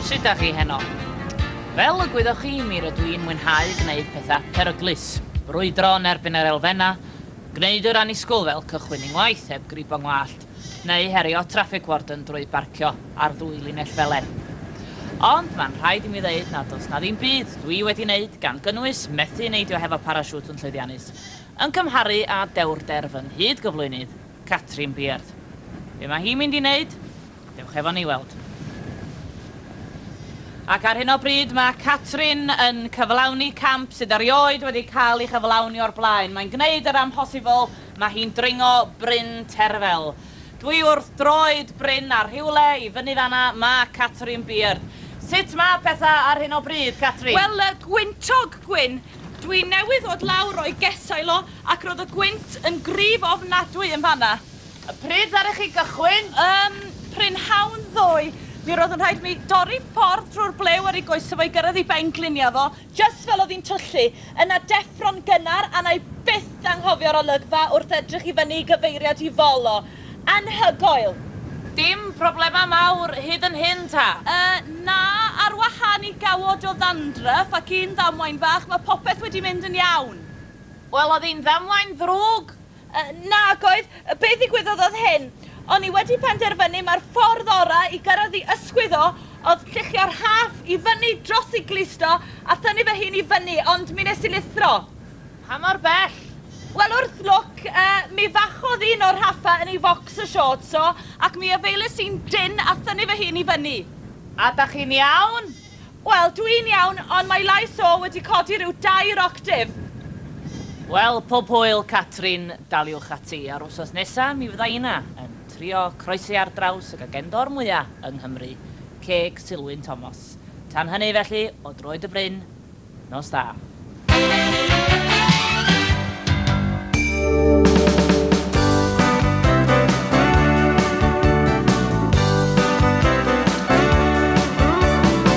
Sut dach chi heno? Fel y gwyddoch chi, mi rydw i'n mwynhau gwneud pethau peryglus, brwydro yn erbyn yr elfennau, gwneud yr annisgwyl fel cychwyn i ngwaith heb gribo ngwallt, neu herio traffic warden drwy barcio ar ddwy linell felen. Ond mae'n rhaid i mi ddeud nad oes 'na ddim byd dwi wedi wneud, gan gynnwys methu neidio hefo parasiwt yn llwyddiannus, yn cymharu â dewrder fy nghyd-gyflwynydd, Catrin Beard. Be mae hi'n mynd i wneud? Dewch efo ni i weld. Ac ar hyn o bryd mae Catrin yn cyflawni camp sydd erioed wedi cael ei chyflawni o'r blaen. Mae'n gwneud yr amhosibl, mae hi'n dringo Bryn Terfel. Dwi wrth droed Bryn a rhywle i fyny fan'na mae Catrin Beard. Sut mae pethau ar hyn o bryd, Catrin? Wel, gwyntog, Gwyn. Dwi newydd ddod lawr o'i gesail o ac roedd y gwynt yn gryf ofnadwy yn fan'na. Pryd ddaru chi gychwyn? Ym, prynhawn ddoe. Mi roedd yn rhaid mi dorri ffordd drwy'r blew ar ei goesau fo i gyrraedd ei benglinia fo, jyst fel oedd hi'n twllu. Yna deffro'n gynnar, a wna i byth anghofio'r olygfa wrth edrych i fyny i gyfeiriad i fol o. Anhygoel! Dim problemau mawr hyd yn hyn ta? Yy, na, ar wahân i gawod o ddandruff ac un ddamwain fach, mae popeth wedi mynd yn iawn. Wel, oedd hi'n ddamwain ddrwg? Nag oedd. Be ddigwyddodd oedd hyn. O'n i wedi penderfynu mai'r ffordd orau i gyrraedd i ysgwydd o oedd lluchio'r rhaff i fyny dros ei glust o a thynnu fy hun i fyny, ond mi wnes i lithro. Pa mor bell? Wel, wrth lwc, mi fachodd un o'r rhaffau yn ei foxer shorts o ac mi afaeles i'n dynn a thynnu fy hun i fyny. A dach chi'n iawn? Wel, dw i'n iawn, ond mae lais o wedi codi rhyw dair octave. Wel, pob hwyl, Catrin, daliwch ati, a'r wsos nesa mi fydda inna yn trio croesi ar draws y gagendor mwya yng Nghymru, ceg Sulwyn Tomos. Tan hynny, felly, o droed y bryn, nos dda.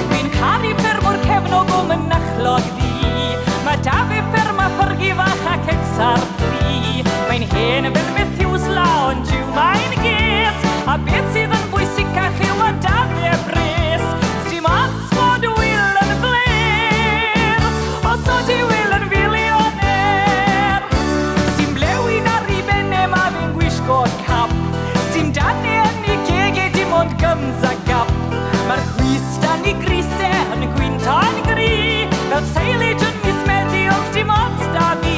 Dwi'n caru ffermwr cefnog o Mynachlog Ddu. Mae 'da fe fferm a ffyrgi fach ac ecs ar fri. Mae'n hen fel Methuselah ond jiw mae'n ges. A beth sydd yn bwysicach yw ma' 'da fe bres. Sdim ots bod Wil yn flêr os odi Wil yn filioner. Sdim blewyn ar 'i ben e, ma' fe'n gwisgo cap. Sdim dan e yn 'i geg e, dim ond gyms a gap. Ma'r chwys dan 'i grys e yn gwynto'n gry, fel silage yn mis Medi, ond sdim ots 'da fi.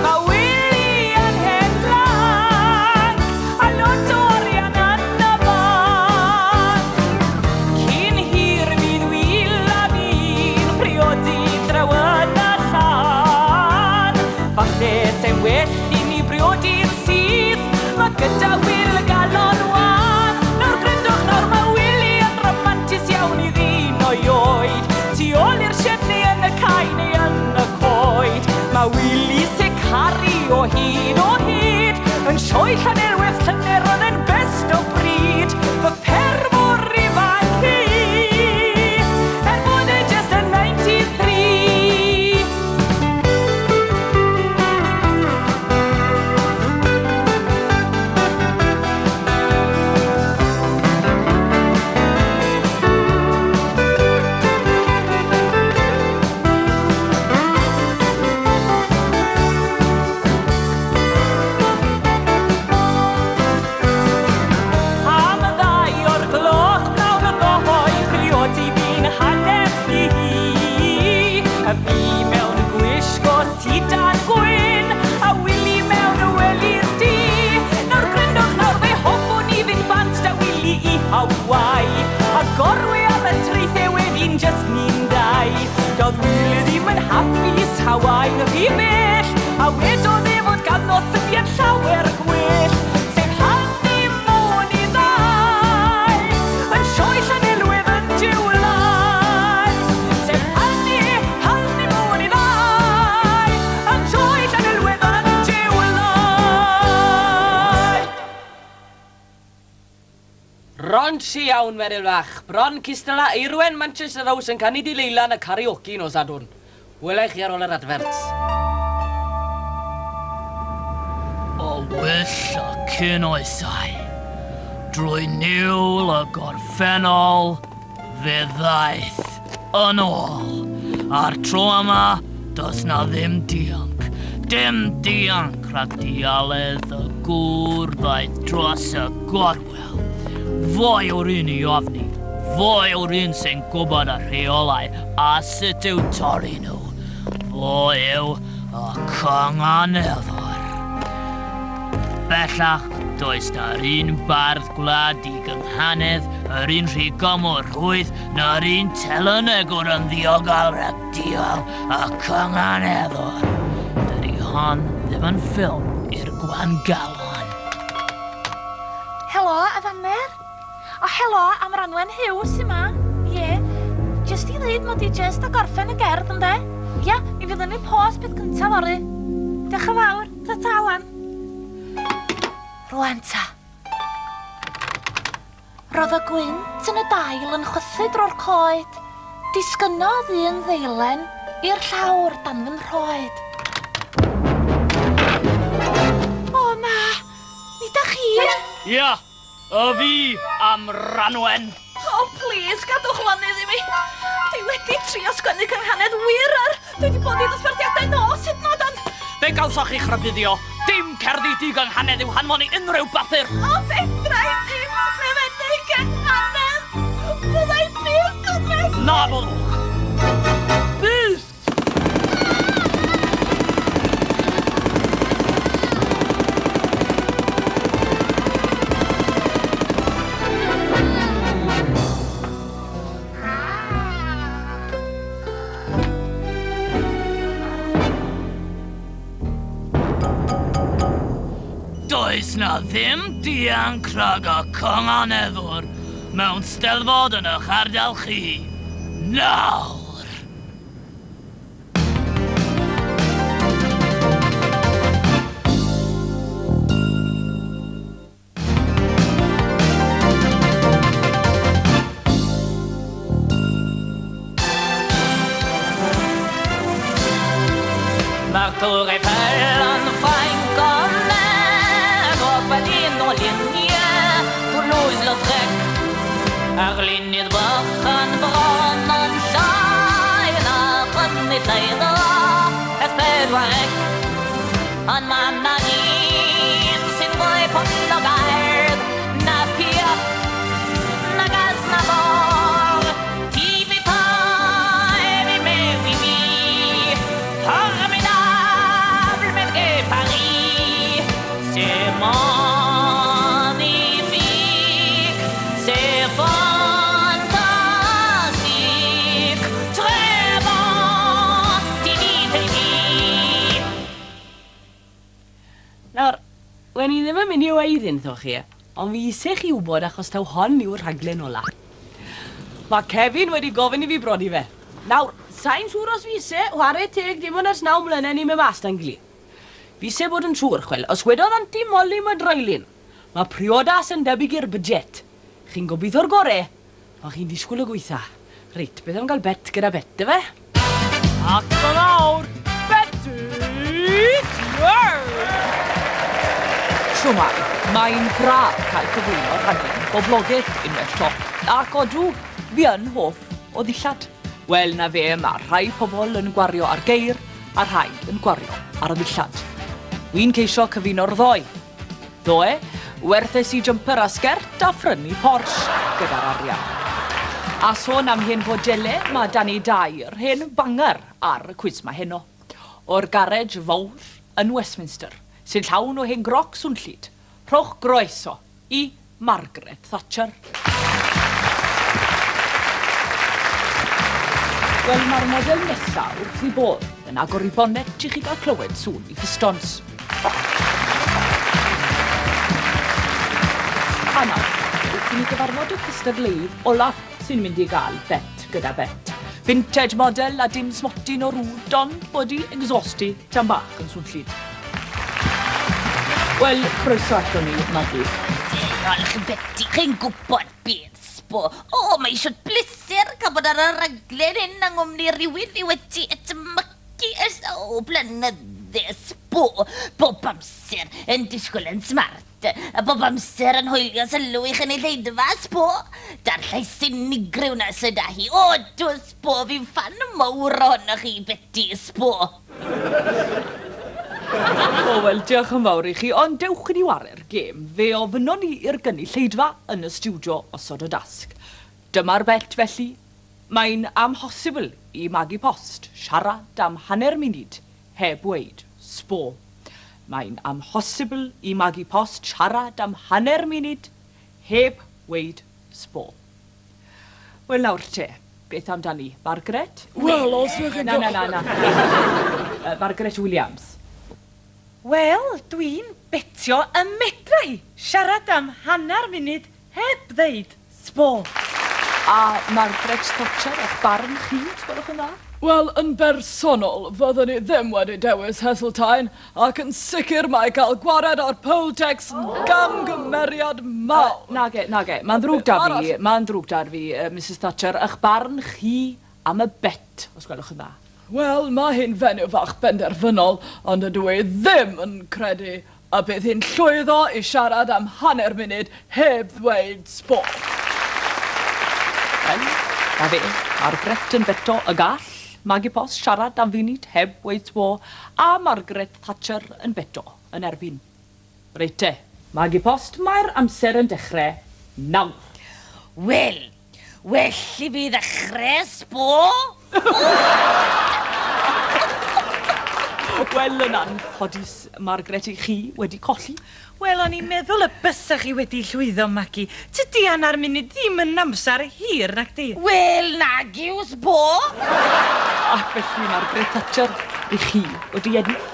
Ma' Wili yn hen lanc, a lot o arian yn y banc. Cyn hir fydd Wil a fi'n priodi draw yn y llan. Falle se'n well i ni briodi'n syth, ma' gyda Wil galon wan. Nawr gryndwch nawr, ma' Wili yn ramantus iawn i ddyn o'i oed. Tu ôl i'r sied neu yn y cae neu yn y coed. Ma' Wili se caru o hyd, o hyd. Yn sioe Llanelwedd llynedd roedd e'n best o bryd. Fy ffermwr ifanc i, er bod e jyst yn 93. Am ddau o'r gloch pnawn ddoe, priodi fi'n hanes i hi. A fi mewn gwisgo sidan gwyn, a Wili mewn wellies du. Nawr gryndwch nawr, fe hoffwn i fynd bant 'da Wili i Hawaii, a gorwe ar y traethau wedyn jyst ni'n dau. Doedd Wil ddim yn hapus, Hawaii'n rhy bell, a wedodd e fod ganddo syniad llawer gwell, sef honeymoon i ddau, yn sioe Llanelwedd yn July. Sef honeymoon i ddau, yn sioe Llanelwedd yn July. Raunchy iawn, Meryl fach. Bron cystal â Eirwen Manchester House yn canu Delilah yn y karaoke nos Sadwrn. Wela i chi ar ôl yr adverts. O wyll y cyn oesau, drwy niwl y gorffennol, Fe ddaeth yn ôl. A'r tro yma, does na ddim dianc. Dim dianc rhag dialedd y gŵr ddaeth dros y gorwel. Fo yw'r un i ofni. Fo yw'r un sy'n gwybod y rheolau a sut i'w torri nhw. Fo yw y cynganeddwr. Bellach, does na'r un bardd gwlad digynghanedd, yr un rhigom o rhwydd, na'r un telynegwr yn ddiogel rhag dial y cynganeddwr. Dydy hon ddim yn ffilm i'r gwangalon. Helo, Afaner. O, helo, am Ranwen Hughes sy 'ma. Ie. Jyst i ddeud mod i jyst a gorffen y gerdd, ynde? Ia, mi fydd yn ei post peth cyntaf fory. Diolch yn fawr. Ta-ta, wan. Rwan ta. Roedd y gwynt yn y dail yn chwythu drwy'r coed. Disgynnodd un ddeilen i'r llawr dan fy nhroed. O na! Nid â chi! Ia, y fi am Ranwen. O, plis, gadwch lonydd i mi. Dwi wedi trio sgwennu cynghanedd wir ar. Dwi wedi bod i ddosbarthiadau nos hyd yn oed, ond... Fe gawsoch chi'ch rhybuddio. Dim cerddi digynghanedd i'w hanfon i unrhyw bapur. O, fedra i ddim ysgrifennu cynghanedd. Fydda i byth yn medru. Na fyddwch. Byth! Does na ddim dianc rhag y cynganeddwr mewn steddfod yn eich ardal chi. Nawr! Mae'r Tour Eiffel yn Ffrainc ond Berlin o luniau, Toulouse-Lautrec. Arlunydd bychan bron yn llai na chynulleidfa S4C. Ond ma' 'na un sy'n fwy poblogaidd na Piaf nag Aznavour. TV5 i mewn i mi, formidable mais Paris. C'est magnifique, c'est fantastique, très bon, TV TV. Nawr, wen i ddim yn mynd i weud wrthoch chi, ond fi eisiau chi wybod achos taw hon yw'r rhaglen ola. Mae Kevin wedi gofyn i fi brodi fe. Nawr, sa'n siŵr os fi eisiau, whare teg dim ond ers 9 mlynedd ni'n mynd mas da'n gilydd. Fi eisiau bod yn siŵr, chwel, os wedodd Anti Molly Madroilyn, mae priodas yn debyg i'r budget. Chi'n gobeithio'r gore, ond chi'n disgwyl y gweitha. Reit, beth am gael bet gyda bet, dyfe? Ac yn awr, Betty Bird! Shwmae, mae'n braf cael cyflwyno rhaglen boblogaidd unwaith to. Ac odw, fi yn hoff o ddillad. Wel, na fe, mae rhai pobl yn gwario ar geir a rhai yn gwario ar y ddillad. Wi'n ceisio cyfuno'r ddoi. Ddoe, werthes i jumper a sgert a phrynu Porsche gyda'r arian. A sôn am hen fodele, mae Danny Dyer hen banger ar y cwis ma heno. O'r garej fawr yn Westminster, sy'n llawn o hen groc swnllyd, rhowch groeso i Margaret Thatcher. Wel, mae'r model nesaf wrth i bodd yn agor i bonnet i chi gael clywed sŵn i pistons. A nawr, wrth i ni gyfarfod y cystadleuydd olaf sy'n mynd i gael bet gyda bet. Vintage model a dim smotyn o rwd, ond bod i exhausti tan bach yn swnllyd. Wel, croeso ato ni, Maggie. Diolch, Betty, chi'n gwybod beth, sbo. O, mae eisiau bleser cael bod ar y raglen hyn yng nghwmni rhywun fi wedi edmygu ers o blynydde, sbo. Bob amser yn disgwyl yn smart. Margaret, a bob amser yn hwylio sylw i chynulleidfa, sbo. Da'r llais unigryw na sydd â hi. O, dw, sbo, fi'n ffan mawr ohonoch chi, Betty, sbo. O, wel, diolch yn fawr i chi, ond dewch i ni ware'r gêm. Fe ofynnon ni i'r gynulleidfa yn y stiwdio osod y dasg. Dyma'r bet, felly. Mae'n amhosibl i Maggie Post siarad am hanner munud heb weud sbo. Mae'n amhosibl i Maggie Post siarad am hanner munud heb weud sbo. Wel nawr te, beth amdani? Margaret? Wel, os ydych chi'n... Na, na, na, na. Margaret Williams. Wel, dwi'n betio y medra hi siarad am hanner munud heb ddeud sbo. A Margaret Thatcher, eich barn chi, os gwelwch yn dda? Wel, yn bersonol, fyddwn ni ddim wedi dewis Heseltine, ac yn sicr mae cael gwared ar poll tax yn gamgymeriad mawr. Nage, nage. Mae'n ddrwg da fi, mae'n ddrwg da fi, Mrs Thatcher, eich barn chi am y bet, os gwelwch yn dda. Wel, mae hi'n fenyw fach benderfynol, ond ydw i ddim yn credu y bydd hi'n llwyddo i siarad am hanner munud heb ddweud sbo. Wel, na fe, Margaret yn beto y gall, Maggie Post siarad am funud heb weud sbo, a Margaret Thatcher yn beto yn erbyn. Reit te, Maggie Post, mae'r amser yn dechrau nawr. Wel, well i fi ddechrau, sbo. Wel, yn anffodus, Margaret, i chi wedi colli. Wel, o'n i'n meddwl y bysach chi wedi llwyddo, Maggie. Tydi hanner munud ddim yn amser hir, nac di? Wel, nag yw, sbo. Ac felly, Margaret Thatcher, i chi wedi ennill.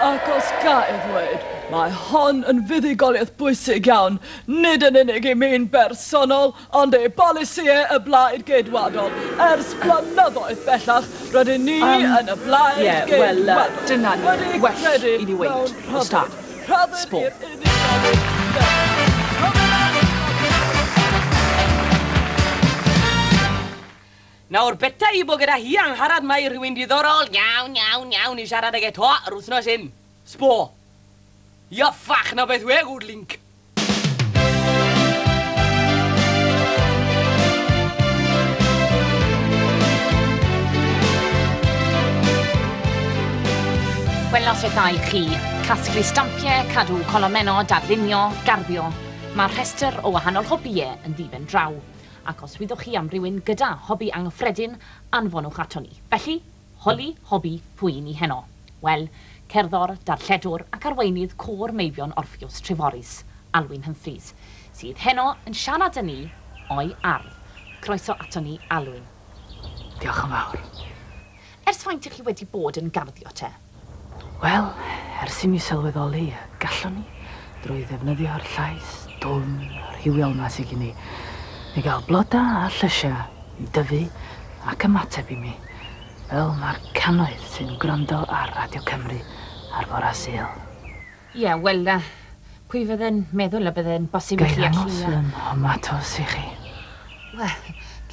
Ac os ga i ddweud, mae hon yn fuddugoliaeth bwysig iawn, nid yn unig i mi'n bersonol, ond ei bolisïau y Blaid Geidwadol. Ers blynyddoedd bellach, rydyn ni yn y Blaid Ie, wel, Geidwadol. dyna ni. Wedi Well credu i ni weud, mewn os da. rhyddid. Rhyddid Sbo. i'r unigolyn. Nawr, beta i bod gyda hi angharad mae rhywun diddorol iawn, iawn, iawn i siarad ag eto yr wythnos hyn. Sbo. Ia ffach na beth we, good link. Wel, noswaith dda i chi. Casglu stampiau, cadw colomennod, darlunio, garddio. Mae'r rhestr o wahanol hobïau yn ddiben draw. Ac os wyddoch chi am rywun gyda hobi anghyffredin, anfonwch ato ni. Felly, holi hobi pwy ni heno. Wel, cerddor, darlledwr ac arweinydd côr meibion Orpheus Treforys, Alwyn Humphreys, sydd heno yn siarad â ni o'i ardd. Croeso ato ni, Alwyn. Diolch yn fawr. Ers faint ych chi wedi bod yn garddio te? Wel, ers i mi sylweddoli, gallwn ni, drwy ddefnyddio'r llais dwfn rhywiol ma sydd gen i, mi gael bloda a llysiau i dyfu ac ymateb i mi, fel mae'r cannoedd sy'n gwrando ar Radio Cymru ar fore Sul. Ie, wel, pwy fydde'n meddwl y bydde'n bosib i Ga i chi ddangos allu... fy nhomatos i chi. Wel,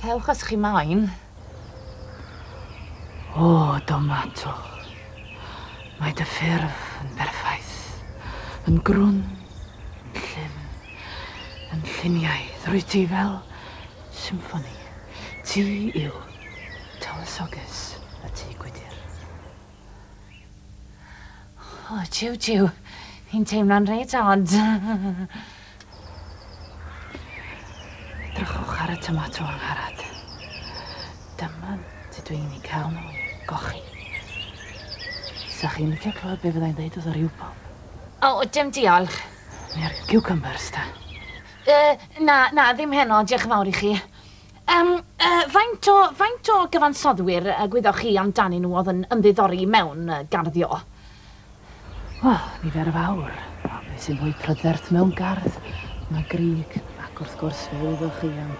cewch os chi moyn. O, tomato. Mae dy ffurf yn berffaith, yn grwn, yn llyfn, yn lluniaidd. Rwyt ti fel symffoni. Ti yw tywysoges y tŷ gwydr. O, jiw, jiw. Hi'n teimlo'n reit od. Edrychwch ar y tomato angharad. Dyma sut dwi'n ei cael nhw i gochi. Sa chi'n licio clywed be fyddai'n dweud wrth yr iwbob? O, dim diolch. Neu'r cucumbers, ta? Na, na, ddim heno, diolch yn fawr i chi. Faint o gyfansoddwyr gwyddoch chi amdanyn nhw oedd yn ymddiddori mewn garddio? Wel, nifer fawr. O, beth sy'n fwy prydferth mewn gardd? Mae Grieg, ac wrth gwrs fe wyddoch chi am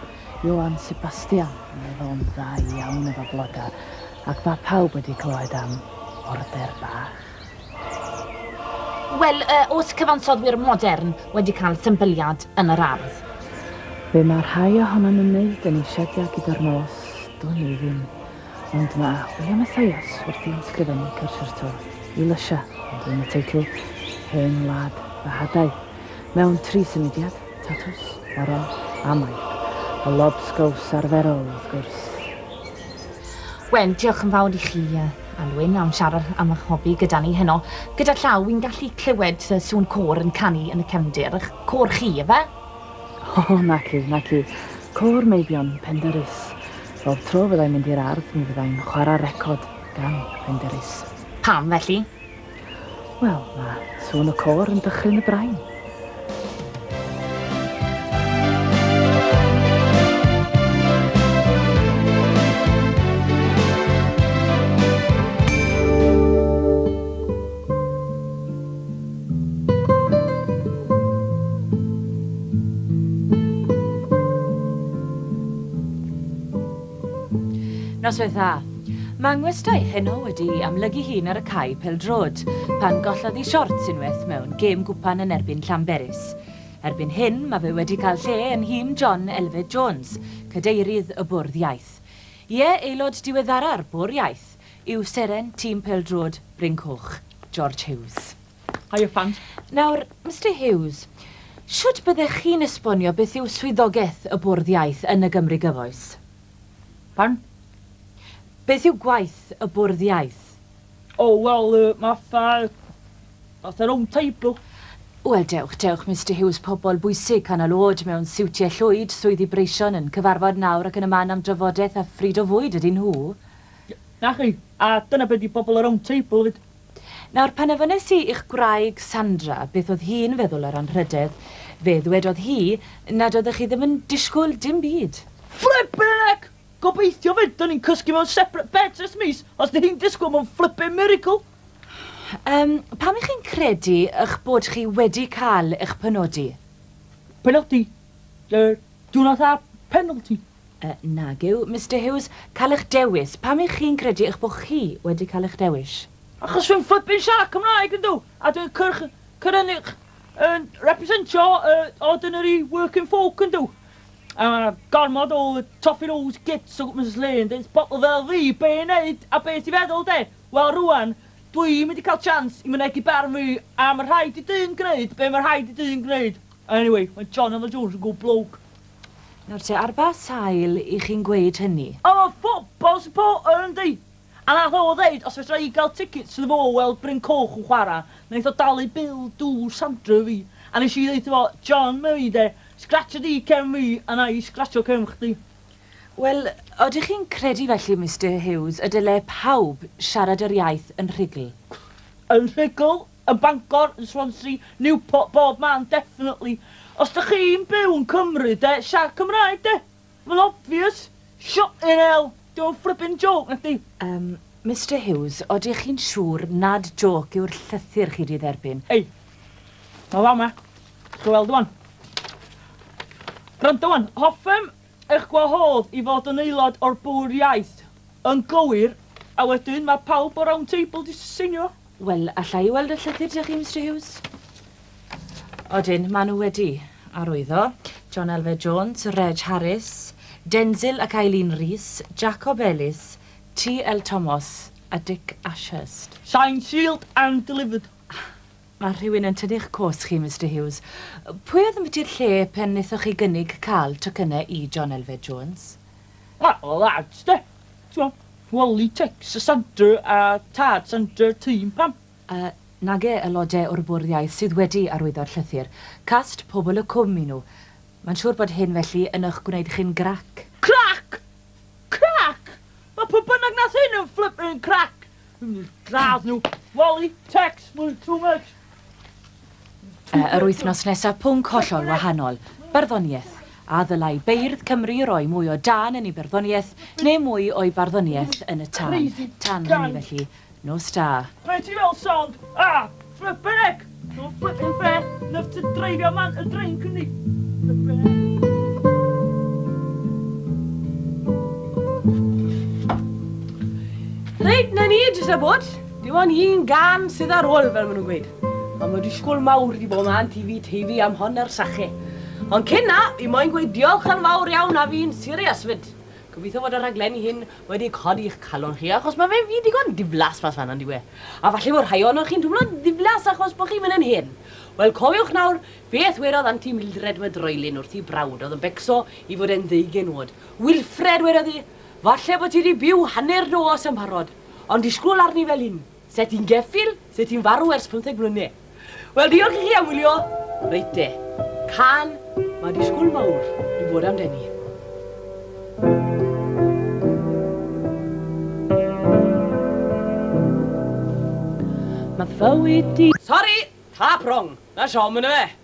Johann Sebastian. Mae fo'n dda iawn efo bloda, ac mae pawb wedi clywed am order bach. Wel, oes cyfansoddwyr modern wedi cael symbyliad yn yr ardd? Fe mae rhai ohonon nhw'n wneud yn eu siediau gyda'r nos, dwn i ddim. Ond mae William Mathias wrthi'n ysgrifennu concerto i lysia, ond yn y teitl Hen Wlad Fy Hadau. Mewn 3 symudiad, tatws, moron a maip. Y lobsgows arferol, wrth gwrs. Wel, diolch yn fawr i chi, Alwyn, am siarad am eich hobi gyda ni heno. Gyda llaw, wi'n gallu clywed sŵn côr yn canu yn y cefndir. Eich côr chi, efe? O, naci, naci. Côr Meibion Penderys. Bob tro fyddai'n mynd i'r ardd, mi fyddai'n chwarae record gan Penderys. Pam, felly? Wel, mae sŵn y côr yn dychryn y brain. Noswaith dda. Mae ngwestai heno wedi amlygu hun ar y cae pêl-droed, pan gollodd ei siorts unwaith mewn gêm gwpan yn erbyn Llanberis. Erbyn hyn, mae fe wedi cael lle yn nhîm John Elfed Jones, cadeirydd y Bwrdd Iaith. Ie, aelod diweddara'r Bwrdd Iaith yw seren tîm pêl-droed Bryn Coch, George Hughes. Hiya, fans. Nawr, Mr Hughes, shwt byddech chi'n esbonio beth yw swyddogaeth y Bwrdd Iaith yn y Gymru gyfoes? Pardon? Beth yw gwaith y Bwrdd Iaith? Oh, wel, fatha round table. Wel, dewch, dewch, Mr Hughes, pobl bwysig canol oed mewn siwtiau llwyd, swyddi breision yn cyfarfod nawr ac yn y man am drafodaeth a phryd o fwyd ydyn nhw. Na chi, a dyna beth di bobl y round table fyd. Nawr, pan ofynnes i i'ch gwraig Sandra beth oedd hi'n feddwl ar anrhydedd, fe ddwedodd hi nad oeddech chi ddim yn disgwyl dim byd. Flippin' heck! Gobeithio fyd, dyn ni'n cysgu mewn separate beds ers mis, os dyn ni'n disgwyl mewn flippin' miracle. Pam ych chi'n credu eich bod chi wedi cael eich penodi? Penodi? Do not have penalty. Nag yw, Mr Hughes, cael eich dewis. Pam ych chi'n credu eich bod chi wedi cael eich dewis? Achos dwi'n flippin' siarad Cymraeg yndw, a dwi'n cyrraedd yn representio ordinary working folk yndw. A mae gormod o toffee nose gits o gwmpas y lle yn dweud, bobl fel fi, be i wneud a be ti feddwl de? Wel rwan, dwi'n mynd i cael chance i mynegi barn fi a mae rhaid i dyn gwneud be mae rhaid i dyn gwneud. Anyway, mae John Elfed Jones yn good bloke. Nawr te, ar ba sail i chi'n gweud hynny? O, mae football supporter yndi! A nath o ddeud, os fedra i gael tickets iddo fo weld Bryn Coch yn chwarae, wnaeth o dalu bil dŵr Sandra fi. A nes i ddeud fo, John, mae fi de, scratch di cefn fi, a na i scratcho cefn chdi. Wel, odych chi'n credu felly, Mr Hughes, y dyle pawb siarad yr iaith yn rhugl? Yn rhugl, yn Bangor, yn Swansea, Newport, bob man, definitely. Os dych chi'n byw yn Cymru, de, siarad Cymraeg, de. Mae'n obvious. Shut in hell. Don't flipping joke, na di. Mr Hughes, odych chi'n siŵr nad joke yw'r llythyr chi di dderbyn? Ei, mae fama. Chi'n weld wan. Gwrando wan, hoffem eich gwahodd i fod yn aelod o'r Bwrdd Iaith yn gywir, a wedyn mae pawb o'r round table di seinio. Wel, alla i weld y llythyr dych chi, Mr Hughes? Odyn, maen nhw wedi arwyddo. John Elfed Jones, Reg Harris, Denzil ac Eileen Rees, Jacob Ellis, T.L. Thomas a Dick Ashurst. Signed, sealed and delivered. Mae rhywun yn tynnu'ch cos chi, Mr Hughes. Pwy oedd yn bwyty'r lle pen wnaethoch chi gynnig cael tocynnau i John Elfed Jones? Wel, lads, de. Ti'n Wally Tex, y Sandra a Tad Sandra tîm pam. Nage aelodau o'r Bwrdd Iaith sydd wedi arwyddo'r llythyr. Cast pobl y cwm i nhw. Mae'n siŵr bod hyn felly yn eich gwneud chi'n grac. Crac! Crac! Mae pwy bynnag nath hyn yn flipping crac! Gradd nhw. Wally, Tex, mae'n too much. Yr wythnos nesaf, pwnc hollol wahanol. Barddoniaeth. A ddylai beirdd Cymru roi mwy o dân yn ei barddoniaeth neu mwy o'i barddoniaeth yn y tân. Tan hynny felly. Nos da. Be ti fel sound? Ah, flipping heck! No flipping fair. Enough to dreifio man y drink yndi. Flipping heck. Reit, na ni, jyst a bod. Dim ond un gan sydd ar ôl, fel maen nhw'n gweud. A mae disgwyl mawr di bod ma'n TV am hon ar sache. Ond cyn na, fi moyn gweud diolch yn fawr iawn a fi'n serious fyd. Gobeithio fod y rhaglenni hyn wedi codi'ch calon chi, achos mae fe fi digon diflas mas fan, on'd yw e? A falle bod rhai ohonoch chi'n twmlo ddiflas achos bod chi'n mynd yn hyn. Wel, cofiwch nawr, beth wedodd Anti Mildred Mydroilyn wrth i brawd oedd yn becso i fod e'n ddeugen oed. Wilfred wedodd hi, falle bod ti wedi byw hanner nos yn parod, ond disgwyl arni fel un. Se ti'n geffyl, se ti'n farw ers 15 mlynedd. Wel, diolch i chi am wylio. Reit te, cân, mae disgwyl mawr i fod amdani. Mae fywyd di... Sori! Tap wrong! Na siom yn y fe!